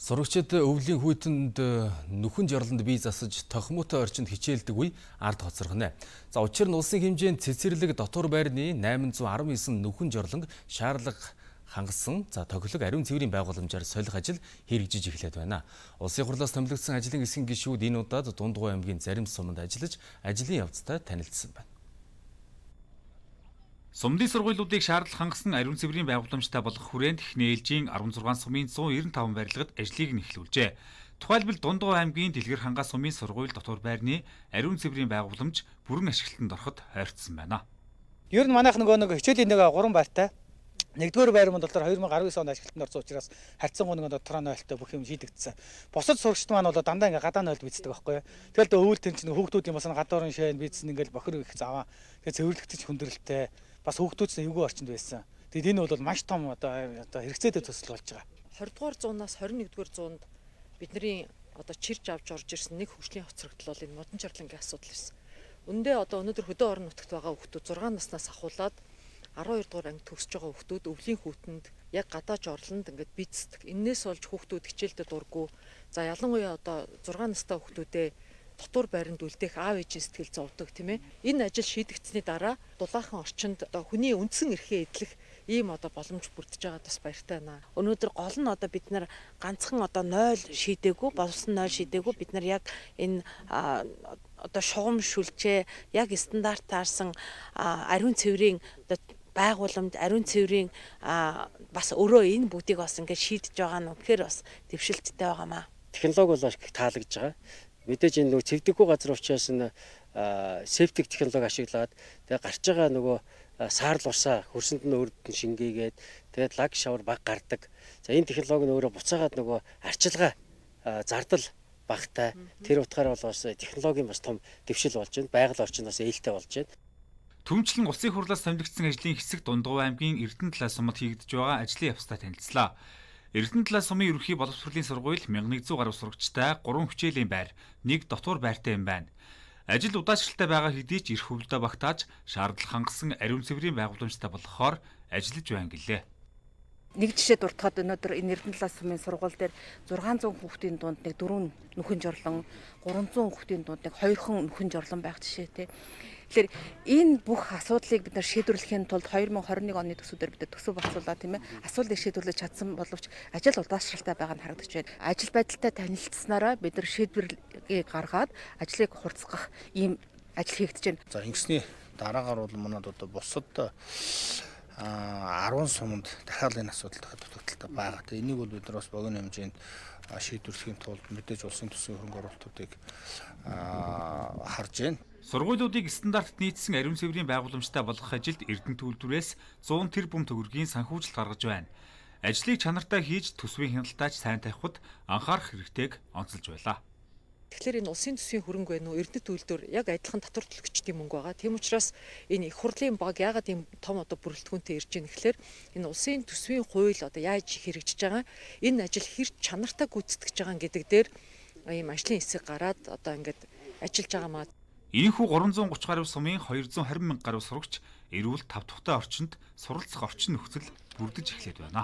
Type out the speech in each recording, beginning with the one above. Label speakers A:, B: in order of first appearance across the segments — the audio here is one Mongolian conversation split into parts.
A: Сурагчид өвлийн хүйтэнд нүхэн жарланд бие засаж тохимотой орчинд хичээлдэг үе ард хоцрогнэ. За учир нь улсын хэмжээнд цэцэрлэг дотор байрны 819 нүхэн жорлонг шаарлаг хангасан тоглог ариун цэврийн байгууламжаар солих ажил хэрэгжиж эхлээд байна. Улсын хурлаас томилогдсон ажлын эсхин гишүүд энэ удаад Дундгой аймгийн зарим суманд ажиллаж ажлын явцтай танилцсан байна.
B: Сумдын сургуулиудыг шаардлага хангасан ариун цэврийн байгууламжтай болох хүрээнд Эхний ээлжийн 16 сумын 195 барилгад ажлыг нэхлүүлжээ. Тухайлбал Дундгой аймгийн Дэлгэр хангаа сумын сургууль дотор байрны ариун цэврийн байгууламж бүрэн ашиглалтанд ороход ойртсон байна.
C: Ер нь манайх нэг хичээлийн 3 байртай. Нэгдүгээр байр мөн болохоор 2019 онд ашиглалтанд орсон учраас харьцан гоног дотроо нойлтой бүх юм шийдэгдсэн. Бусад сурагчид маань бол дандаа ингээ гадаа нойлд бийцдэг байхгүй. Тэгэл өвөл тэн чинь хүүхдүүд юм бас гадуурын шайн бийцсэн ингээл бохир их заваа. Тэгээ цэвэрлэгдэж хүндрэлтэй бас хүүхдүүд нь эвгүй орчинд байсан. Тэгэд энэ бол маш том одоо хэрэгцээтэй төсөл болж байгаа.
D: 20-р зуунаас 21-р зуунд бидний чирж авч орж ирсэн нэг хөгжлийн хоцрогдол бол энэ модон жарлангийн асуудал байсан. Үндэ өнөөдөр хөдөө орон нутагт байгаа хүүхдүүд 6 наснаас ахуулаад 12 дугаар анги төгсөж байгаа хүүхдүүд өвлийн хүүтэнд яг гадаа жорлонд ингээд бийцдэг. Иннээс болж хүүхдүүд хичээлдээ дурггүй. За ялангуяа 6 настай хүүхдүүдээ дотор байранд үлдээх аав ээжийн сэтгэл зовдөг тийм ээ. Энэ ажил шийдэгдсэний дараа дулаахан орчинд хүний үндсэн эрхээ эдлэх ийм боломж бүрдэж байгаад бас баяртай байна.
E: Өнөөдөр гол нь бид нар ганцхан 0 шийдээгүй, болсон 0 шийдээгүй бид нар яг энэ шугам шүлжээ яг стандарт таарсан ариун цэврийн байгууламж ариун цэврийн бас өөрөө энэ бүгдийг бас ингээд шийдэж байгаа нь үнэхээр бас дэвшилттэй байгаамаа.
F: Технологи бол их таалагдж байгаа. Мэдээж энэ цэвдэггүй газар учраас септик технологи ашиглаад тэгээ гарч байгаа саарл урсаа хөрсөнд нь өөрөд нь шингээгээд тэгээд лаг шавар баг гардаг. За энэ технологи нь өөрөө буцаагаад арчилгаа зардал багтай. Тэр утгаараа бол бас технологийн бас том дэвшил болж байна. Байгаль орчинд бас ээлтэй болж байна.
B: Түмчлэн улсын хурлаас томилогдсон ажлын хэсэг Дундгой аймгийн Эрдэнэтлай сумад хийгдэж байгаа ажлын явцтай танилцлаа. Эрдэнэтлай сумын ерөнхий боловсролын сургууль 1100 гаруй сурагчтай 3 хичээлийн байр, 1 дотор байртай юм байна. Ажил удаашралтай байгаа хэдий ч эрх хөвлөдөө багтааж шаардлага хангасан ариун цэврийн байгууламжтай болохоор ажиллаж байна гэлээ.
E: Нэг жишээ дуртахад өнөөдөр энэ Эрдэнэтлай сумын сургууль дээр 600 хүүхдийн дунд 4 нүхэн жорлон, 300 хүүхдийн дунд 2 нүхэн жорлон байх жишээ тий. Тэгэхээр энэ бүх асуудлыг бид нар шийдвэрлэхийн тулд 2021 оны төсвөөр бид төсөв болцуулаа тийм ээ. Асуудлыг шийдвэрлэж чадсан боловч ажил удаашралтай байгаа нь харагдаж байна. Ажил байдалтай танилцсанараа бид нар шийдвэрлэгийг гаргаад ажлыг хурцгах ийм ажил хийгдэж байна.
G: За ингэсний дараагаар бол манад бусад 10 суманд дахиад энэ асуудал дутагдaltaй байгаа. Тэгээ энийг бол бид нар бас богино хэмжээнд шийдвэрлэхийн тулд мэдээж улсын төсвийн хөрөнгө оруулалтуудыг харж байна.
B: Сургуулиудыг стандартт нийцсэн ариун цэврийн байгууламжтай болгох ажилд Эрдэнэ төлбөрөөс 100 тэрбум төгрөгийн санхүүжилт гаргаж байна. Ажлыг чанартай хийж төсвийн хяналтаач сайн тавихад анхаарах хэрэгтэйг онцолж байлаа.
D: Тэгэхээр энэ улсын төсвийн хөрөнгө байна уу? Эрдэнэ төлөлтөөр яг адилхан татвар төлөгчдийн мөнгө байгаа. Тийм учраас энэ их хурлын баг яагаад ийм том бүрэлдэхүүнтэй ирж байна гэхээр энэ улсын төсвийн хууль яаж хэрэгжиж байгаа, энэ ажил хэр чанартай гүйцэтгэж байгаа гэдэг дээр ийм ажлын хэсэг гараад ингээд ажиллаж байгаамаа.
B: Энэхүү 330 гаруй сумын 220 мянга гаруй сурагч эрүүл тав тухтай орчинд суралцах орчин нөхцөл бүрдэж эхлээд байна.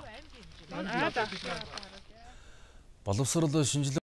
A: Боловсрол шинжилгээ